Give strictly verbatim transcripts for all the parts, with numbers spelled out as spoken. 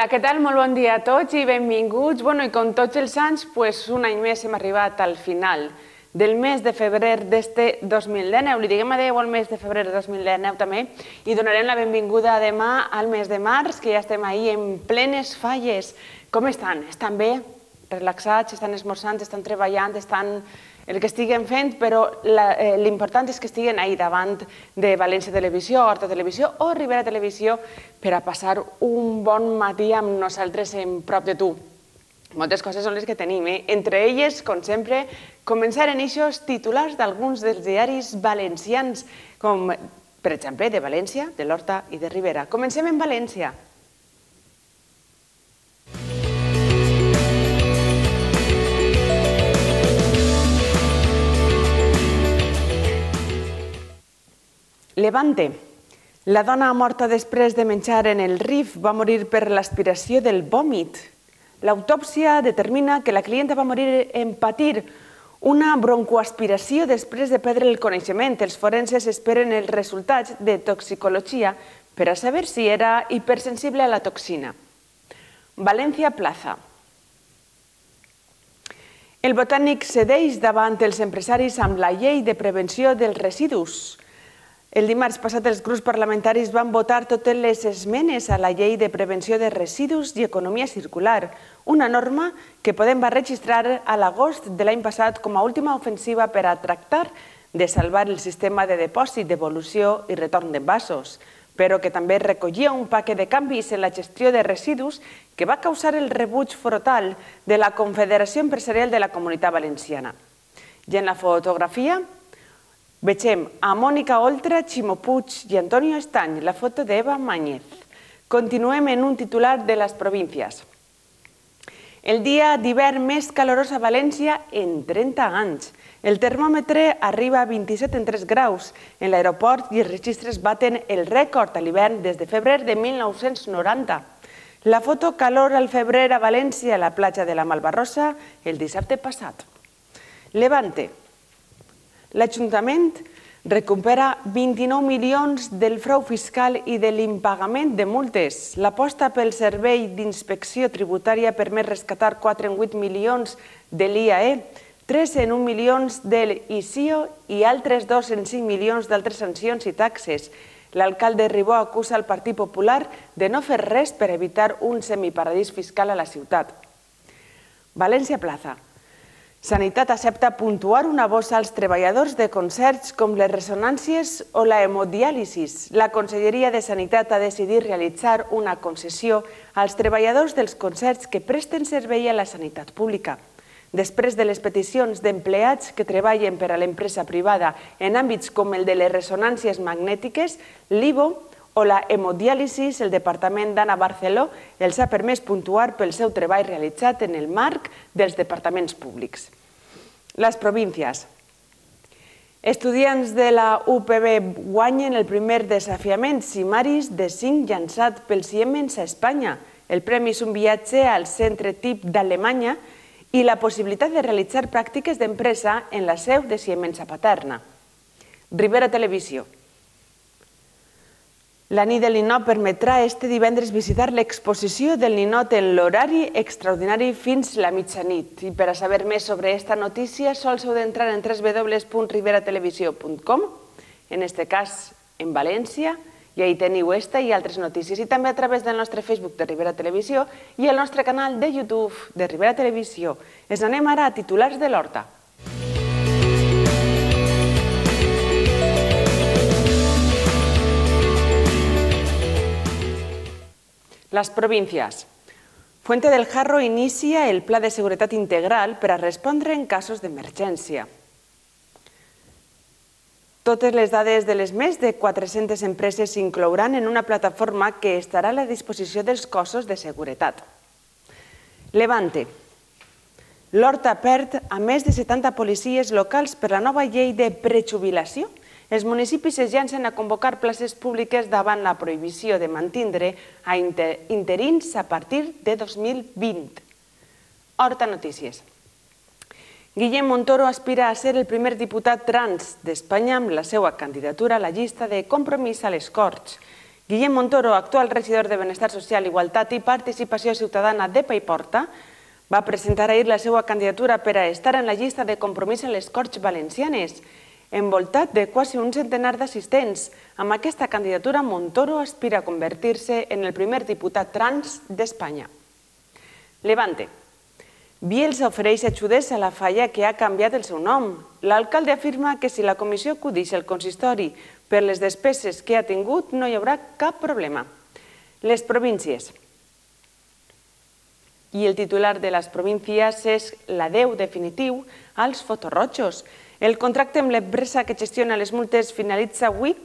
Hola, què tal? Molt bon dia a tots i benvinguts. Bueno, i com tots els anys, pues, un any més hem arribat al final del mes de febrer d'este dos mil dinou. Li diguem adeu al mes de febrer de dos mil dinou també i donarem la benvinguda demà al mes de març, que ja estem ahí en plenes falles. Com estan? Estan bé? Relaxats? Estan esmorzant? Estan treballant? Estan el que estiguen fent, però l'important és que estiguen ahí davant de València Televisió, Horta Televisió o Ribera Televisió per a passar un bon matí amb nosaltres en prop de tu. Moltes coses són les que tenim, eh? Entre elles, com sempre, començar en eixos titulars d'alguns dels diaris valencians, com, per exemple, de València, de l'Horta i de Ribera. Comencem en València. Levante. La dona morta després de menjar en el Rif va morir per l'aspiració del vòmit. L'autòpsia determina que la clienta va morir en patir una broncoaspiració després de perdre el coneixement. Els forenses esperen els resultats de toxicologia per a saber si era hipersensible a la toxina. València Plaza. El Botànic cedeix davant els empresaris amb la llei de prevenció dels residus. El dimarts passat els grups parlamentaris van votar totes les esmenes a la llei de prevenció de residus i economia circular, una norma que Podem va registrar a l'agost de l'any passat com a última ofensiva per a tractar de salvar el sistema de depòsit, devolució i retorn d'envasos, però que també recollia un paquet de canvis en la gestió de residus que va causar el rebuig frontal de la Confederació Empresarial de la Comunitat Valenciana. I en la fotografia vegem a Mònica Oltra, Ximo Puig i Antonio Estany, la foto d'Eva Mañez. Continuem en un titular de les províncies. El dia d'hivern més calorós a València en trenta anys. El termòmetre arriba a vint-i-set coma tres graus. En l'aeroport i els registres baten el rècord a l'hivern des de febrer de mil nou-cents noranta. La foto calor al febrer a València, a la platja de la Malvarrosa, el dissabte passat. Levante. L'Ajuntament recupera vint-i-nou milions del frau fiscal i de l'impagament de multes. L'aposta pel servei d'inspecció tributària permet rescatar quatre coma vuit milions de l'I A E, tres coma un milions de l'I C I O i altres dos coma cinc milions d'altres sancions i taxes. L'alcalde Ribó acusa el Partit Popular de no fer res per evitar un semiparadís fiscal a la ciutat. València Plaza. Sanitat accepta puntuar una bossa als treballadors de concerts com les ressonàncies o la hemodiàlisis. La Conselleria de Sanitat ha decidit realitzar una concessió als treballadors dels concerts que presten servei a la sanitat pública. Després de les peticions d'empleats que treballen per a l'empresa privada en àmbits com el de les ressonàncies magnètiques, l'I V O o la hemodiàlisis, el Departament d'Anna Barceló els ha permès puntuar pel seu treball realitzat en el marc dels departaments públics. Les províncies. Estudiants de la U P B guanyen el primer desafiament Simaris de cinc llançat pels Siemens a Espanya. El premi és un viatge al centre T I P d'Alemanya i la possibilitat de realitzar pràctiques d'empresa en la seu de Siemens a Paterna. Ribera Televisió. La nit del ninot permetrà este divendres visitar l'exposició del ninot en l'horari extraordinari fins la mitjanit. I per a saber més sobre aquesta notícia, sols heu d'entrar en w w w punt ribera televisió punt com, en este cas en València, i ahí teniu esta i altres notícies. I també a través del nostre Facebook de Ribera Televisió i el nostre canal de YouTube de Ribera Televisió. Ens anem ara a titulars de l'Horta. Las provincias. Fuente del Jarro inicia el Pla de Seguretat Integral per a respondre en casos d'emergència. Totes les dades de les més de quatre-centes empreses s'inclouran en una plataforma que estarà a la disposició dels cossos de seguretat. Levante. L'Horta perd a més de setanta policies locals per la nova llei de prejubilació. Els municipis es llancen a convocar places públiques davant la prohibició de mantindre a interins a partir de dos mil vint. Horta Notícies. Guillem Montoro aspira a ser el primer diputat trans d'Espanya amb la seva candidatura a la llista de Compromís a les Corts Guillem Montoro, actual regidor de Benestar Social, Igualtat i Participació Ciutadana de Paiporta, va presentar ahir la seva candidatura per a estar en la llista de compromís a les Corts Valencianes, envoltat de quasi un centenar d'assistents. Amb aquesta candidatura, Montoro aspira a convertir-se en el primer diputat trans d'Espanya. Levante. Bielsa ofereix ajudes a la falla que ha canviat el seu nom. L'alcalde afirma que si la comissió acudeix al consistori per les despeses que ha tingut, no hi haurà cap problema. Les províncies. I el titular de les províncies és l'adeu definitiu als fotorrojos. El contracte amb l'empresa que gestiona les multes finalitza avui.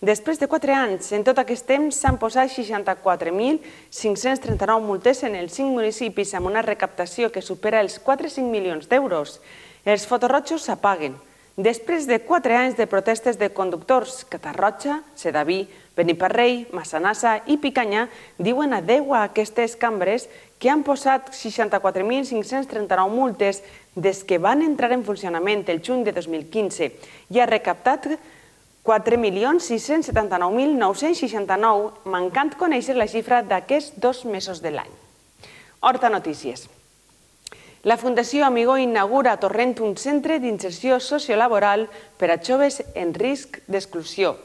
Després de quatre anys, en tot aquest temps s'han posat seixanta-quatre mil cinc-cents trenta-nou multes en els cinc municipis amb una recaptació que supera els quatre coma cinc milions d'euros. Els fotorrojos s'apaguen. Després de quatre anys de protestes de conductors, Catarroja, Sedaví, Beniparrell, Massanassa i Picanya diuen adeu a aquestes cambres que han posat seixanta-quatre mil cinc-cents trenta-nou multes des que van entrar en funcionament el juny de dos mil quinze i ha recaptat quatre milions sis-cents setanta-nou mil nou-cents seixanta-nou, mancant conèixer la xifra d'aquests dos mesos de l'any. Horta Notícies. La Fundació Amigó inaugura a Torrent un centre d'inserció sociolaboral per a joves en risc d'exclusió.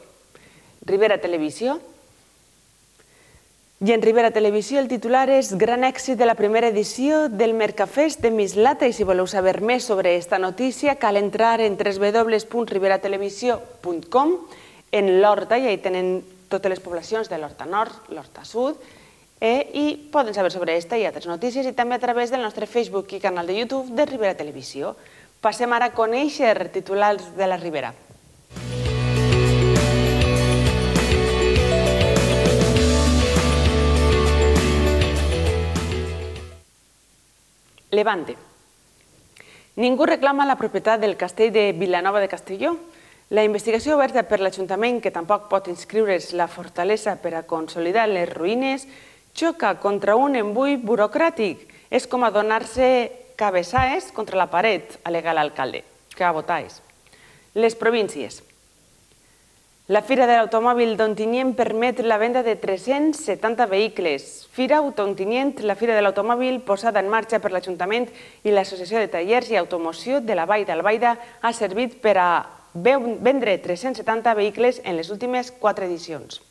Ribera Televisió. I en Ribera Televisió el titular és Gran èxit de la primera edició del Mercafest de Mislata i si voleu saber més sobre aquesta notícia cal entrar en w w w punt ribera televisió punt com en l'Horta i ahí tenen totes les poblacions de l'Horta Nord, l'Horta Sud i poden saber sobre aquesta i altres notícies i també a través del nostre Facebook i canal de YouTube de Ribera Televisió. Passem ara a conèixer titulars de la Ribera. Levante. Ningú reclama la propietat del castell de Vilanova de Castelló. La investigació oberta per l'Ajuntament, que tampoc pot inscriure's la fortalesa per a consolidar les ruïnes, xoca contra un embull burocràtic. És com adonar-se cabeçaes contra la paret, al·lega l'alcalde, que a votar és. Les províncies. La Fira de l'Automòbil d'Ontinyent permet la venda de tres-cents setanta vehicles. Fira Ontinyent, la Fira de l'Automòbil posada en marxa per l'Ajuntament i l'Associació de Tallers i Automoció de la Vall d'Albaida ha servit per a vendre tres-cents setanta vehicles en les últimes quatre edicions.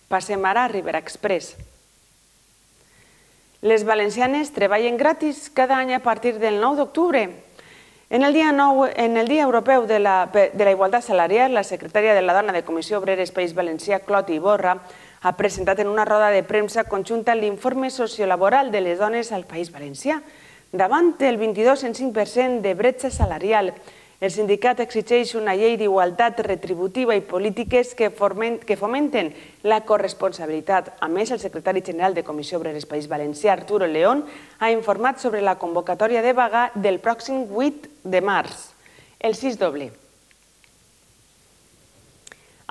Passem ara a Ribera Express. Les valencianes treballen gratis cada any a partir del nou d'octubre. En el Dia Europeu de la Igualtat Salarial, la secretària de la Dona de Comissió Obreres País Valencià, Cloti Iborra, ha presentat en una roda de premsa conjunta l'informe sociolaboral de les dones al País Valencià. Davant el vint-i-dos coma cinc per cent de bretxa salarial, el sindicat exigeix una llei d'igualtat retributiva i polítiques que fomenten la corresponsabilitat. A més, el secretari general de Comissió Obreres País Valencià, Arturo León, ha informat sobre la convocatòria de vaga del pròxim vuit de març. El sis doble.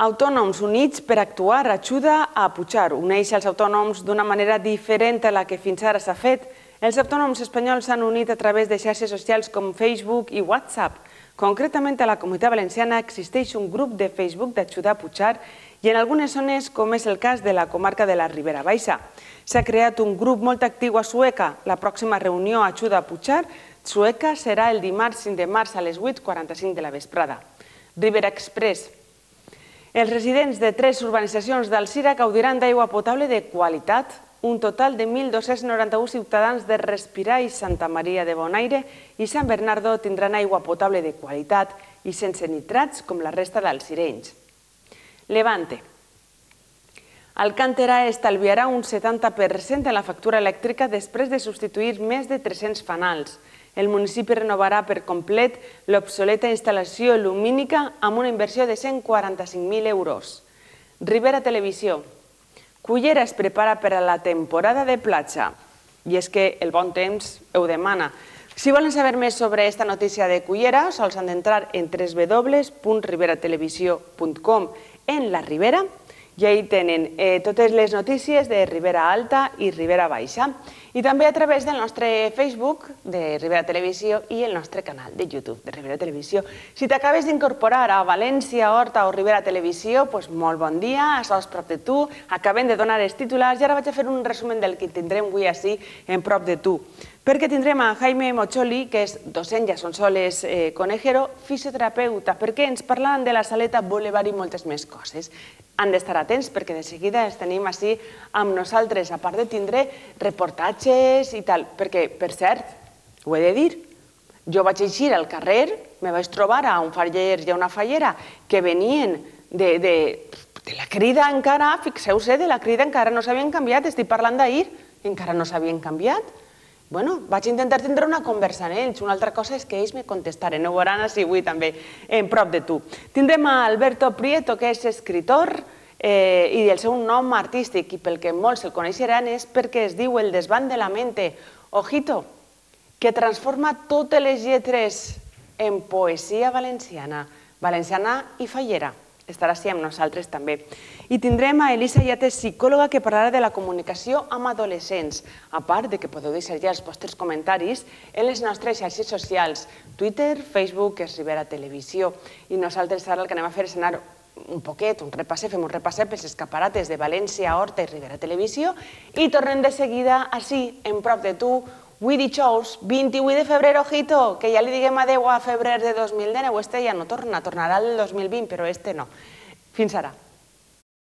Autònoms units per actuar ajuda a Puigdemont. Uneix els autònoms d'una manera diferent a la que fins ara s'ha fet. Els autònoms espanyols s'han unit a través de xarxes socials com Facebook i WhatsApp. Concretament, a la Comunitat Valenciana existeix un grup de Facebook d'Ajuda a Puigdemont i en algunes zones, com és el cas de la comarca de la Ribera Baixa. S'ha creat un grup molt actiu a Sueca. La pròxima reunió Ajuda a Puigdemont Sueca serà el dimarts cinc de març a les vuit quaranta-cinc de la vesprada. Ribera Express. Els residents de tres urbanitzacions d'Alzira gaudiran d'aigua potable de qualitat. Un total de mil dos-cents noranta-u ciutadans de Respirar i Santa Maria de Bonaire i Sant Bernardo tindran aigua potable de qualitat i sense nitrats com la resta d'alzirenys. Levante. Alcántara estalviarà un setanta per cent en la factura elèctrica després de substituir més de tres-cents fanals. El municipi renovarà per complet l'obsoleta instal·lació lumínica amb una inversió de cent quaranta-cinc mil euros. Ribera Televisió. Cullera es prepara per a la temporada de platja i és que el bon temps ho demana. Si volen saber més sobre aquesta notícia de Cullera, sols han d'entrar en w w w punt ribera televisió punt com en la Ribera i ahí tenen totes les notícies de Ribera Alta i Ribera Baixa. i també a través del nostre Facebook de Ribera Televisió i el nostre canal de YouTube de Ribera Televisió. Si t'acabes d'incorporar a València, Horta o Ribera Televisió, doncs molt bon dia, això és prop de tu, acabem de donar els titulars i ara vaig a fer un resumen del que tindrem avui així en prop de tu. Perquè tindrem a Jaime Mocholi, que és docent a Sonsoles Conejero, fisioterapeuta, perquè ens parlaran de la Saleta Boulevard i moltes més coses. Han d'estar atents perquè de seguida els tenim així amb nosaltres, a part de tindre reportatges i tal, perquè, per cert, ho he de dir, jo vaig eixir al carrer, me vaig trobar a un faller i a una fallera que venien de la crida encara, fixeu-se, de la crida encara no s'havien canviat, estic parlant d'ahir, encara no s'havien canviat. Bueno, vaig intentar tindre una conversa amb ells, una altra cosa és que ells me contestaren, ho veuran així avui també, en prop de tu. Tindrem a Alberto Prieto, que és escritor, i el seu nom artístic, i pel que molts el coneixeran, és perquè es diu El desván de la mente, ojito, que transforma totes les lletres en poesia valenciana, valenciana i fallera. Estarà així amb nosaltres també. I tindrem a Elisa Yates, psicòloga, que parlarà de la comunicació amb adolescents, a part de que podeu deixar ja els vostres comentaris en les nostres xarxes socials, Twitter, Facebook, és Ribera Televisió. I nosaltres ara el que anem a fer és anar un poquet, un repasset, fem un repasset pels escaparates de València, Horta i Ribera Televisió i tornem de seguida així, en prop de tu, avui dijous, vint-i-vuit de febrer, ojito, que ja li diguem adeu a febrer de dos mil dinou, este ja no torna, tornarà el dos mil vint, però este no. Fins ara.